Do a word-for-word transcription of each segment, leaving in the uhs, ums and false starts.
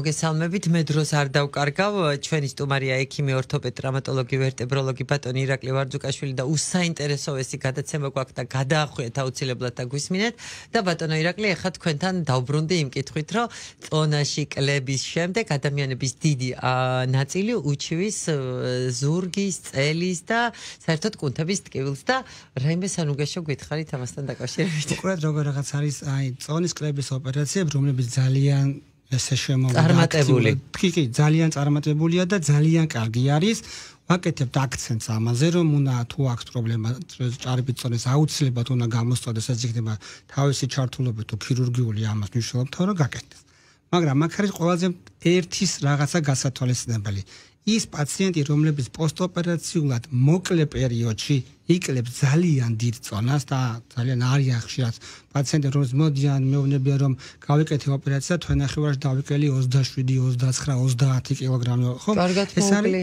მოგესალმებით, მე დროს არ დავკარგავ, ჩვენი სტუმარია ექიმი, ორთოპედ, ტრამატოლოგი, ვერტებროლოგი ბატონი ირაკლი ვარძუკაშვილი და უსაინტერესოესი გადაცემა გვაქვს და გადაახვიეთ აუცილებლად და გვისმინეთ და ბატონო ირაკლი, ეხლა თქვენთან დავბრუნდი იმ კითხვით, რომ წონაში კლების შემდეგ ადამიანების დიდი ნაწილი უჩივის ზურგის, წელის და საერთოდ კუნთების ტკივილს და რაიმე სანუგეშო გითხარით ამასთან დაკავშირებით. უყურეთ როგორ რაღაც არის აი წონის კლების ოპერაციები, რომლებიც ძალიან ესე შემოვიდა წარმატებული. კი, კი, ძალიან წარმატებულია და ძალიან კარგი არის. ვაკეთებთ აქცენტს ამაზე, რომ უნდა თუ აქვს პრობლემა ჭარბი წონის აუცილებლად უნდა გამოსწორდეს, ეს იქნება თავისი ჩართულობით თუ ქირურგიული ამას მნიშვნელობთ, რომ გაკეთდეს. მაგრამ აქ არის ყველაზე ერთის რაღაცა გასათვალისწინებელი. ის პაციენტი, რომლებიც პოსტოპერაციულად მოკლე პერიოდში იკლებს ძალიან დიდ წონას და ძალიან არიან ხშირად პაციენტები, რომლებიც მოდიან, მეუბნებიან, რომ გავიკეთე ოპერაცია, თვენახევარში დავიკელი ოცდაშვიდი, ოცდაცხრა, ოცდაათი კილოგრამი, ხო? ეს არის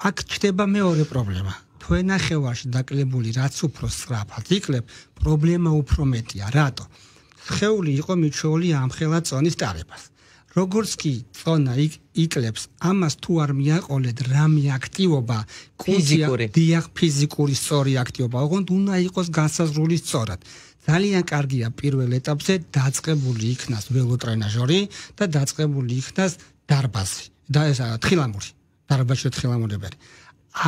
აქ ჩდება მეორე პრობლემა. თვენახევარში დაკლებული რაც უფრო სწრაფად იკლებ, პრობლემა უფრო მეტია. რატო? სხეული იყო მიჩვეული ამხელა წონის ტარებას. როგორც კი წონა იკლებს, ამას თუ არ მიაყოლეთ რამე აქტივობა, ფიზიკური, დიახ, ფიზიკური სწორი აქტივობა, ოღონდ უნდა იყოს განსაზღვრული სწორად. ძალიან კარგია პირველ ეტაპზე დაწყებული იქნას ველოტრენაჟორი და დაწყებული იქნას დარბაზი და ეს თხილამური, დარბაზში თხილამურებელი.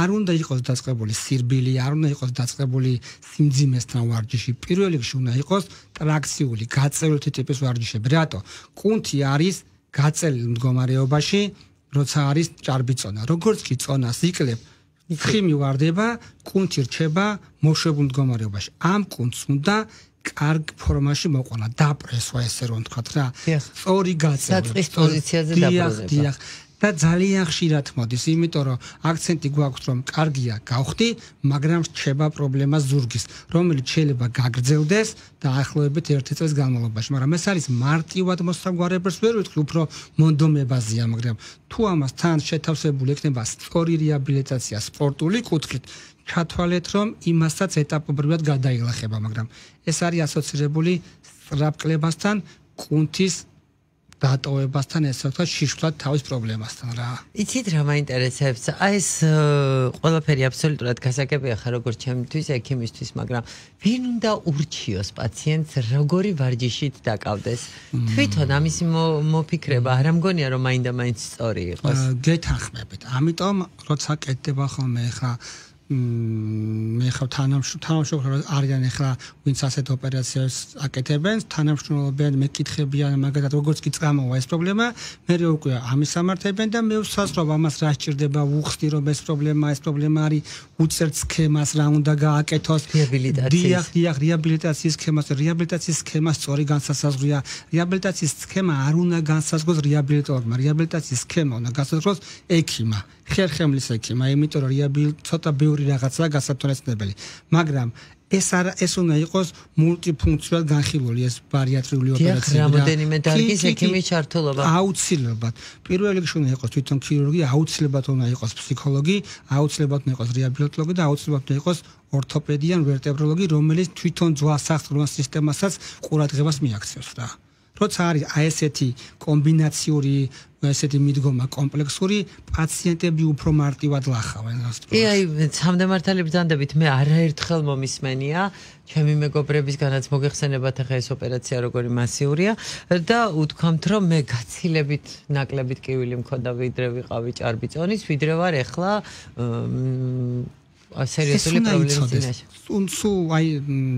არ უნდა იყოს დაწყებული სირბილი, არ უნდა იყოს დაწყებული სიმძიმესთან ვარჯიში. პირველ რიგში უნდა იყოს ტრაქციული, გაწევრითი ტიპის ვარჯიშები. რატო? კუნთი არის გაწელილ მდგომარეობაში, როცა არის ჭარბი წონა. როგორც კი წონას იკლებ, თხი მივარდება, კუნთი რჩება მოშვებულ მდგომარეობაში. ამ კუნთს უნდა კარგ ფორმაში მოყვანა, დაპრესვა, ესე რომ ვთქვათ რა. სწორი გაწევა. საწყის პოზიციაზე დაბრუნება. და ძალიან ხშირად მოდის, იმიტომ რომ აქცენტი გვაქვს, რომ კარგია გავხდი, მაგრამ რჩება პრობლემა ზურგის, რომელიც შეიძლება გაგრძელდეს დაახლოებით ერთი წლის განმავლობაში. მაგრამ ეს არის მარტივად მოსაგვარებელს ვერ ვიტყვი, უფრო მონდომებაზეა, მაგრამ თუ ამას თან შეთავსებული ექნება სწორი რეაბილიტაცია სპორტული კუთხით, ჩათვალეთ, რომ იმასაც ეტაპობრივად გადაილახება, მაგრამ ეს არის ასოცირებული სწრაფკლებასთან, კუნთის დატოვებასთან, ესე ვთქვათ, შიშვლად თავის პრობლემასთან რა. იცით რა მაინტერესებს? აი ეს ყველაფერი აბსოლუტურად გასაგებია ხარ როგორც ჩემთვის, ექიმისთვის, მაგრამ ვინ უნდა ურჩიოს პაციენტს, როგორი ვარჯიშით დაკავდეს? თვითონ ამის მოფიქრება არ ამგონია, რომ მაინდა-მაინც სწორი იყოს. გეთანხმებით. ამიტომ როცა კეთდება ხოლმე ხა მე ხავ თანამშრომლები არიან ახლა ვინც ასეთ ოპერაციებს აკეთებენ, თანამშრომლობენ, მეკითხებიან, მაგალითად როგორც კი წამოვა ეს პრობლემა, მე უკვე ამის სამართლებენ და მე ვსაზღვრობ ამას რა სჭირდება, ვუხსნი რომ ეს პრობლემა, ეს პრობლემა არის უწერ სქემას რა უნდა გააკეთოს, რეაბილიტაციის, დიახ, რეაბილიტაციის სქემას, რეაბილიტაციის სქემა სწორი განსასაზღვრია, რეაბილიტაციის სქემა არ უნდა განსაზღვროს რეაბილიტოლოგმა, რეაბილიტაციის სქემა უნდა განსაზღვროს ექიმმა. ხერხემლის ექიმმა, იმიტომ რომ რეაბილიტაცია ცოტა ბევრი რაღაცაა გასათვალისწინებელი. მაგრამ ეს არა, ეს უნდა იყოს მულტიფუნქციურად განხილული ეს ბარიატრიული ოპერაციები. რამოდენიმე დარგის ექიმის ჩართულობა. აუცილებლად. პირველ რიგში უნდა იყოს თვითონ ქირურგი, აუცილებლად უნდა იყოს ფსიქოლოგი, აუცილებლად უნდა იყოს რეაბილიტოლოგი და აუცილებლად უნდა იყოს ორთოპედი ან ვერტებროლოგი, რომელიც თვითონ ძვლა-სახსრულ სისტემასაც ყურადღებას მიაქცევს რა. როცა არის აი ესეთი კომბინაციური ესეთი მიდგომა კომპლექსური, პაციენტები უფრო მარტივად ლახავენ. კი, აი, სამდამართალი ბრძანდებით მე არაერთხელ მომისმენია, ჩემი მეგობრებისგანაც მოგეხსენებათ ახლა ეს ოპერაცია როგორი მასიურია და უთქვამთ, რომ მე გაცილებით ნაკლებით კივილი მქონდა ვიდრე ვიყავი ჭარბი წონის, ვიდრე ვარ ახლა სერიოზული პრობლემის წინაშე. სულ აი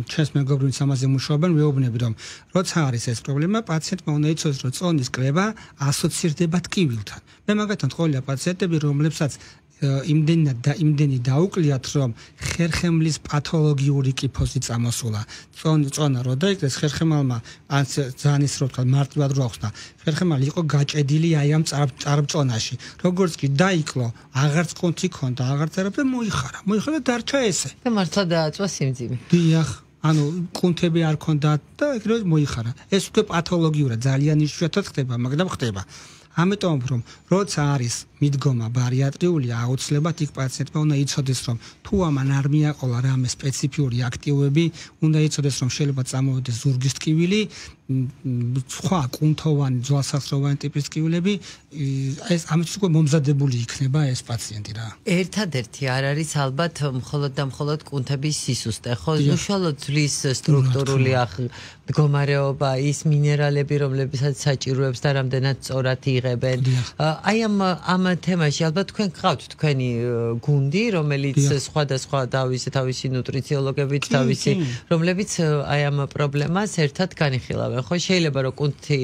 ჩვენს მეგობრებს ამაზე მუშაობენ, ვეუბნები რომ როცა არის ეს პრობლემა, პაციენტმა უნდა იცოდეს, რომ წონის კლება ასოცირდება ტკივილთან. მე მაგათთან ყოლია პაციენტები, რომლებსაც იმდენად და იმდენი დაუკვლიათ, რომ ხერხემლის პათოლოგიური კიფოზი წამოსულა. წონა რო დაიკლეს ხერხემალმა, ან ძალიან ის რო ვთქვა, მარტივად რო ახსნა. ხერხემალი იყო გაჭედილი აი ამ წარბწონაში. როგორც კი დაიკლო, აღარც კუნთი ქონდა, აღარც არაფერი მოიხარა. მოიხარა დარჩა ესე. და მართლა დააწვა სიმძიმე. დიახ, ანუ კუნთები არ ქონდა და ეგრევე მოიხარა. ეს უკვე პათოლოგიურად ძალიან იშვიათად ხდება, მაგრამ ხდება. ამიტომ რომ როცა არის მიდგომა ბარიატრიული, აუცილებლად იქ პაციენტმა უნდა იცოდეს, რომ თუ ამან არ მიაყოლა რამე სპეციფიური აქტივობები, უნდა იცოდეს, რომ შეიძლება წამოვიდეს ზურგის ტკივილი სხვა კუნთოვანი ძვალსახსროვანი ტიპის ტკივილები ეს ამით უკვე მომზადებული იქნება ეს პაციენტი რა. ერთადერთი არ არის ალბათ მხოლოდ და მხოლოდ კუნთების სისუსტე, ხო? უშუალოდ ძვლის სტრუქტურული მდგომარეობა, ის მინერალები, რომლებსაც საჭიროებს და რამდენად სწორად იღებენ. აი ამ ამ თემაში ალბათ თქვენ გყავთ თქვენი გუნდი, რომელიც სხვადასხვა თავისი თავისი ნუტრიციოლოგებით, თავისი რომლებიც აი ამ პრობლემას ერთად განიხილავენ. ხო შეიძლება რომ კუნთი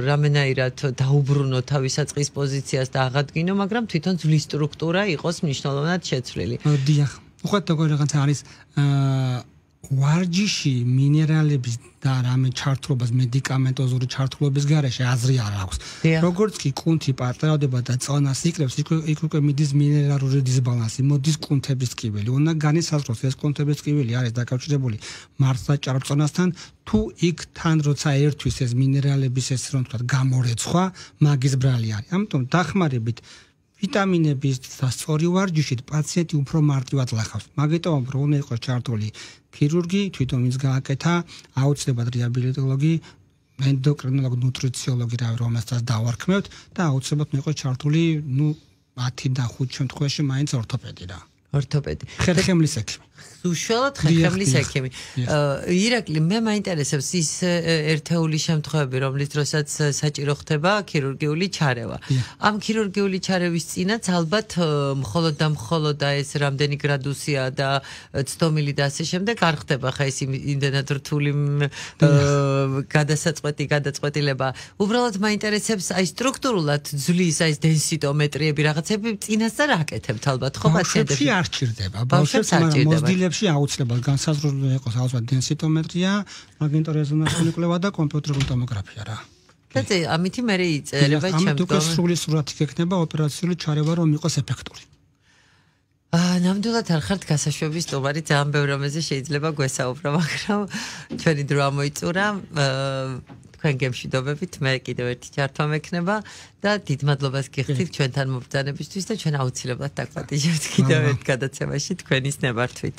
რამენაირად დაუბრუნო თავის საწყის პოზიციას და აღადგინო, მაგრამ თვითონ ძვლის სტრუქტურა იყოს მნიშვნელოვნად შეცვლილი. დიახ. უხოთ როგორ რაღაცა არის ვარჯიში მინერალების და რამე ჩართულობას მედიკამენტოზური ჩართულობის გარეშე აზრი არ აქვს. როგორც კი კუნთი პარტერავდება და წონას იკრებს, იქ უკვე მიდის მინერალური დისბალანსი, მოდის კუნთების ტკივილი. უნდა განისაზღვროს ეს კუნთების ტკივილი არის დაკავშირებული მართლა ჭარბწონასთან, თუ იქ თან როცა ერთვის ეს მინერალების ეს რომ თქვა გამორეცხვა, მაგის ბრალი არის. ამიტომ დახმარებით ვიტამინების და სწორი ვარჯიშით პაციენტი უფრო მარტივად ლახავს. მაგიტომ რომ უნდა იყოს ჩართული ქირურგი, თვითონ ვინც გააკეთა, აუცილებლად რეაბილიტოლოგი, ენდოკრინოლოგი, ნუტრიციოლოგი, რა რომელსაც დავარქმევთ და აუცილებლად უნდა იყოს ჩართული, ну, ათი და ხუთი შემთხვევაში მაინც ორთოპედი რა. ორთოპედი. ხერხემლის ექიმი. უშუალოდ ხერხემლის ექიმი. ირაკლი, მე მაინტერესებს ის ერთეული შემთხვევები, რომლის დროსაც საჭირო ხდება ქირურგიული ჩარევა. ამ ქირურგიული ჩარევის წინაც ალბათ მხოლოდ და მხოლოდ ეს რამდენი გრადუსია და ცდომილი და ასე შემდეგ არ ხდება ხა ეს იმდენად რთული გადასაწყვეტი გადაწყვეტილება. უბრალოდ მაინტერესებს აი სტრუქტურულად ძვლის აი დენსიტომეტრიები რაღაცები წინასწარ აკეთებთ ალბათ ხო პაციენტებში? არ ჭირდება. ბავშვებს არ ჭირდება. აუცილებლად განსაზღვრული იყოს აუცილებლად დენსიტომეტრია, მაგნიტორეზონანსული კვლევა და კომპიუტერული ტომოგრაფია რა. და ამითი მე იწერება ჩემთვის. ამიტომ სრული სურათი გექნება ოპერაციული ჩარევა რომ იყოს ეფექტური. აა ნამდვილად არ ხართ გასაშვების სტუმარი, ძალიან ბევრ რამეზე შეიძლება გვესაუბრო, მაგრამ ჩვენი დრო ამოიწურა. თქვენ გემშვიდობებით, მე კიდევ ერთი ჩართვა მექნება და დიდ მადლობას გიხდით ჩვენთან მობრძანებისთვის და ჩვენ აუცილებლად დაგვატიჟებთ კიდევ ერთ გადაცემაში თქვენის ნებართვით.